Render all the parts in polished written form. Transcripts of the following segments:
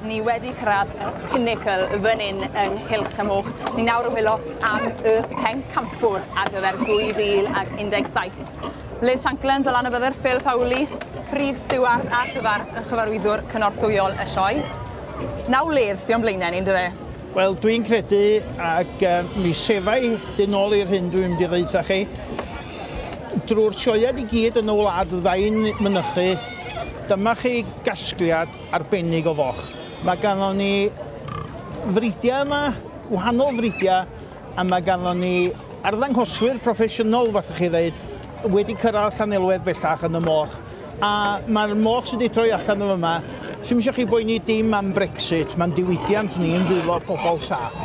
Ni wedi cyrraedd y pinnacle fan hyn yng Nghylch y Moch. Ni nawr yn wylo am y pencampwr ar gyfer 2017. Liz Shankland o Lanybydder, Phil Fowley, prif stiward a chyfar y chyfarwyddwr cynorthwyol y sioe. Naw ledd sy'n o'n blaenau ni, yndyfe? Wel, dwi'n credu, ac mi sefai dyn ôl i'r hyn dwi'n mynd i ddeud chi, drwy'r sioeau i gyd yn y wlad fyddai'n mynychu, dyma chi gasgliad arbennig o foch. Mae ganddo ni fridiau yma, wahanol fridiau, a mae ganddo ni arddangoswyr proffesiynol, fath chi ddeud, wedi cyrraedd Llanelwedd bellach yn y moch. A mae'r moch sydd wedi troi allan yn yma, sy'm eisiau chi boeni dim am Brexit, mae'n diwydiant ni yn ddwylo pobl saff.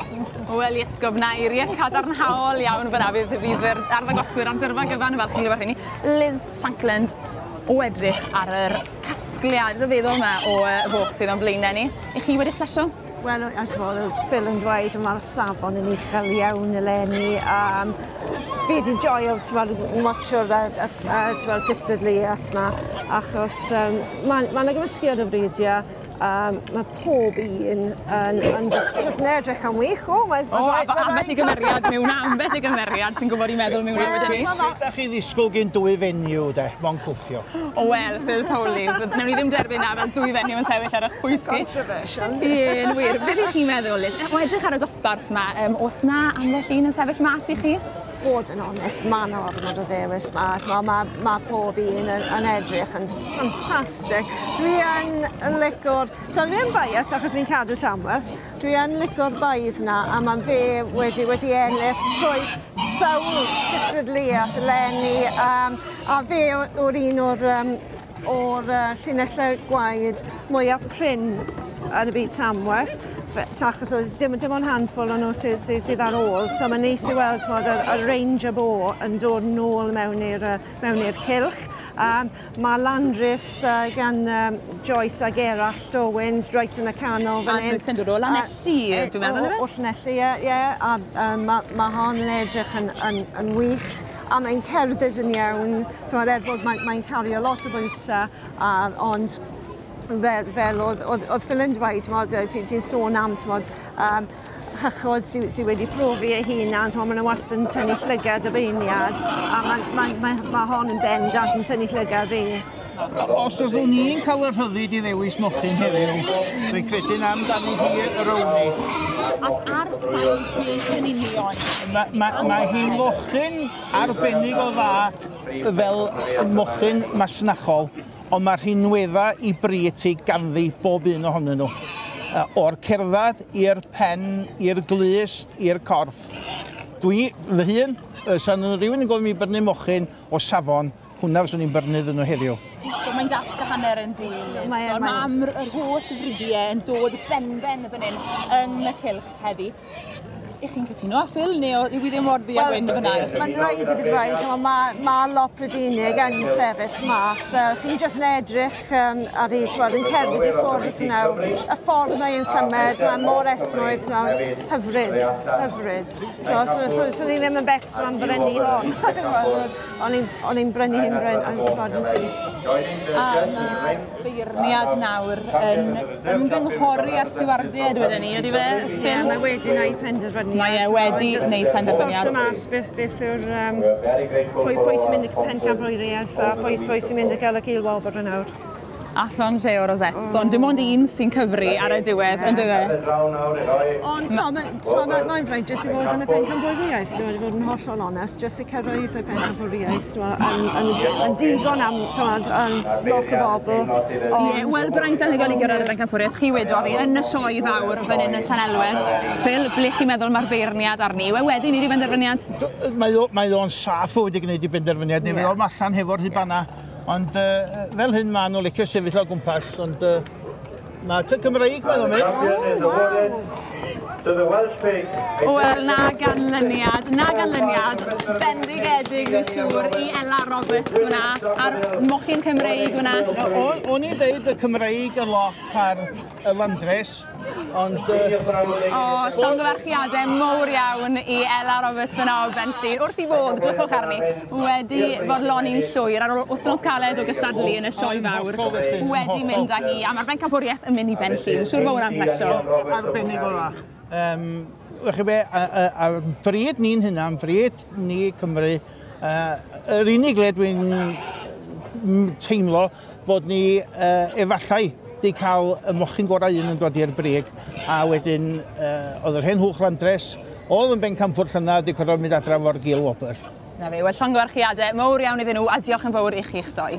Wel, Iesgob, na eiriau cadarnhaol iawn fyna fydd yr arddangoswyr am dyrfa gyfan yn falch i glywed rheini. Liz Shankland, o edrych ar yr casgliad rhyfeddol yma o foch sydd o'n blaenau ni. I chi wedi plesio? Wel, I suppose, oedd Phil yn dweud, mae'r safon yn uchel iawn eleni. Fi wedi joio, ti'n watcho'r cystadleuaeth yma, achos mae yna gymysgiad o fridiau. Mae pob un yn just yn edrych am wych. O, mae, o, ambell i gymeriad mewn, ambell i gymeriad sy'n gwybod i meddwl mewn wedyn ni. Da chi ddisgwyl gen dwy fenyw, de, mo'n cwffio. O wel, Phil Fowley, wnawn ni ddim derbyn na fel dwy fenyw yn sefyll ar eich pwys chi. Controversial. Ie, yn wir. Beth ych chi'n meddwl, Liz? O edrych ar y dosbarth yma, oes na ambell un yn sefyll mas i chi? Fod yn onest, mae yna ormod o ddewis ma. Mae pob un yn edrych yn ffantastig. Dwi yn lico'r... Dwi yn biased achos fi'n cadw Tamworth. Dwi yn lico'r baidd na, a mae fe wedi ennill trwy sawl cystadleuaeth eleni. A fe o'r un o'r llinellau gwaed mwyaf prin yn y byd Tamworth. Achos oedd dim ond handful o'n nhw sydd ar ôl, so mae'n neis i weld y Ranger Bo yn dod nôl mewn i'r cylch. Mae Landris gan Joyce a Gerallt Owens reit yn y canol fan hyn. A dod o Lanelli, dwi'n meddwl, O Llanelli, ie. A mae hon yn edrych yn wych, a mae'n cerdded yn iawn, er bod mae'n cario lot o bwysau, ond fel oedd Phil yn dweud, ti'n sôn am hychod sydd wedi profi ei hunan, maen nhw wastad yn tynnu llygad y beirniad, a mae hon yn bendant yn tynnu llygad fi. Os oeddwn ni'n cael y rhyddid i ddewis mochyn heddiw, dwi'n credu na amdani hi yr own ni. Ac ar sail beth yn union? Mae hi'n mochyn arbennig o dda fel mochyn masnachol, ond mae'r rhinweddau i bryd ti ganddi bob un ohonyn nhw. O'r cerdded i'r pen, i'r glust, i'r corff. Dwi, fy hun, sa'n rhywun yn gofyn mi brynu mochyn o safon, hwnna fyswn i'n brynu iddyn nhw heddiw. Mae'n dasg a hanner yn dilyn. Mae am yr holl fridiau yn dod benben fan hyn yn y cylch heddi. Ych chi'n cytuno â Phil, neu yw i ddim mor ddu a gwyn fyna? Mae'n rhaid i fi ddweud, mae lot Brydeinig yn sefyll mas. Chi'n jyst yn edrych ar ei, yn cerdded i ffwrdd nawr. Y ffordd mae'n symud, mae'n mor esmwyth, mae'n hyfryd, hyfryd. So ni ddim yn becso am brynu hon. O'n i'n brynu hyn yn syth. A mae'r beirniad nawr yn ymgynghori ar stiwardiaid wedyn ni, ydy fe? Ie, mae wedi gwneud penderfyniad. Mae e wedi gwneud penderfyniad. Sorto mas beth yw'r pwy sy'n mynd i pencampwriaeth a pwy sy'n mynd i gael y gilwobr yn awr. Allan lle o rosettes, ond dim ond un sy'n cyfri ar y diwedd, yn dyfe? Ond mae'n fraint jyst i fod yn y pencampwriaeth, dwi'n fod yn hollol onest, jyst i cyrraedd y pencampwriaeth, yn digon am lot o bobl. Ie, wel, braint anhygoel i gyrraedd y pencampwriaeth, chi wedodd fi, yn y sioe fawr fan hyn yn Llanelwedd. Phil, ble chi'n meddwl mae'r beirniad arni? Wel, wedi wneud i benderfyniad? Mae o'n saff o wedi gwneud i benderfyniad, neu fydd o'n allan hefo'r rhibana. Ond fel hyn maen nhw'n licio sefyll o gwmpas, ond mae tŷ Cymreig mae'n mynd. To the Welsh pig. Wel, na ganlyniad bendigedig dwi'n siŵr i Ella Roberts fyna, a'r mochyn Cymreig fyna. O'n i'n deud y Cymreig yn lot ar y Landres, ond O, llongyfarchiadau mowr iawn i Ella Roberts fyna o Benllyn. Wrth i fod, drychwch arni, wedi fodloni'n llwyr ar ôl wythnos caled o gystadlu yn y sioe fawr. Hollol felly, yn Wedi hollol. mynd â hi, a mae'r bencampwriaeth yn mynd i Benllyn. Siŵr bod hwnna'n plesio. Arbennig o dda. Chi be, a bryd ni'n hynna, bryd ni Cymru, yr unig le dwi'n teimlo bod ni efallai di cael y mochyn gorau un yn dod i'r brig, a wedyn oedd yr hen hwch Landres, oedd yn bencampwr llynedd, di cyrraedd mynd adra fo'r gil wobr. Na fe, wel llongyfarchiadau mowr iawn iddyn nhw, a diolch yn fawr i chi'ch doi.